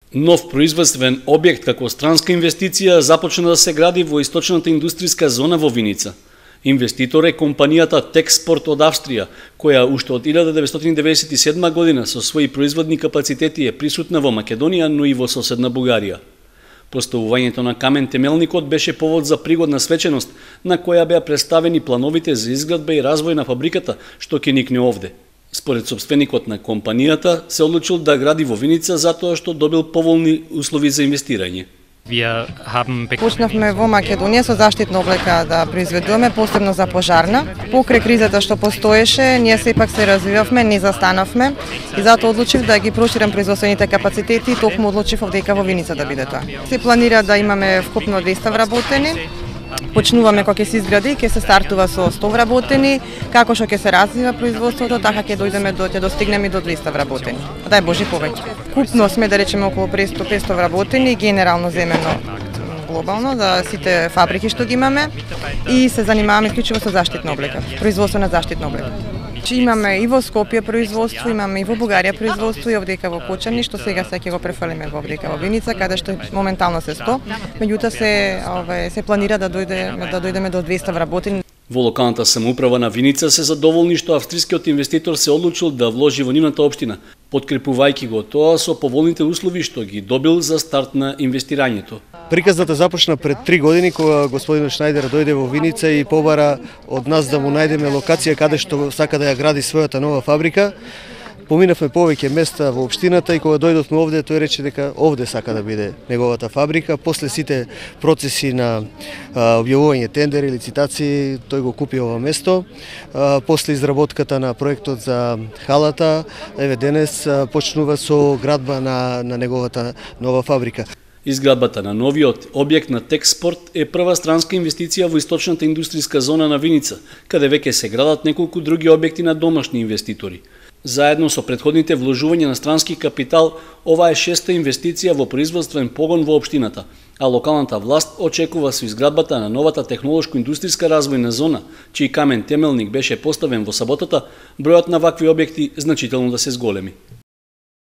Нов производствен објект како странска инвестиција започна да се гради во источната индустријска зона во Виница. Инвеститор е компанијата Техспорт од Австрија, која уште од 1997 година со своји производни капацитети е присутна во Македонија, но и во соседна Бугарија. Поставувањето на камен темелникот беше повод за пригодна свеченост, на која беа представени плановите за изградба и развој на фабриката, што ќе никне овде. Според собственикот на компанијата, се одлучил да гради во Виница затоа што добил поволни услови за инвестирање. Почнавме во Македонија со заштитна облека да произведуваме, посебно за пожарна. Покрај кризата што постоеше, ние сепак се развивавме, не застанавме и затоа одлучив да ги проширам производствените капацитети и токму одлучив дека во Виница да биде тоа. Се планира да имаме вкупно 200 вработени. Почнуваме кога ќе се изгради, ќе се стартува со 100 вработени, како што ќе се развива производството, така ќе достигнеме до 200 вработени. Дај Боже повеќе. Купно сме да речеме околу 500 вработени, генерално земено глобално за сите фабрики што ги имаме и се занимаваме исклучиво со заштитна облека, производство на заштитна облека. Имаме и во Скопје производство, имаме и во Бугарија производство и овдека во Кочани, што сега ќе го префрлиме во овдека во Виница, каде што моментално се 100, меѓутоа се планира да дојдеме до 200 вработени. Во локалната самоуправа на Виница се задоволни што австрискиот инвеститор се одлучил да вложи во нивната општина, подкрепувајќи го тоа со поволните услови што ги добил за старт на инвестирањето. Приказната започна пред 3 години кога господин Шнајдер дојде во Виница и побара од нас да му најдеме локација каде што сака да ја гради својата нова фабрика. Поминавме повеќе места во општината и кога дојдовме овде, тој рече дека овде сака да биде неговата фабрика. После сите процеси на објавување тендери, лицитации, тој го купи ова место. После изработката на проектот за халата, еве денес почнува со градба на неговата нова фабрика. Изградбата на новиот објект на Техспорт е прва странска инвестиција во источната индустријска зона на Виница, каде веќе се градат неколку други објекти на домашни инвеститори. Заедно со претходните вложувања на странски капитал, ова е 6-та инвестиција во производствен погон во општината, а локалната власт очекува со изградбата на новата технолошко-индустријска развојна зона, чиј камен темелник беше поставен во саботата, бројот на вакви објекти значително да се зголеми.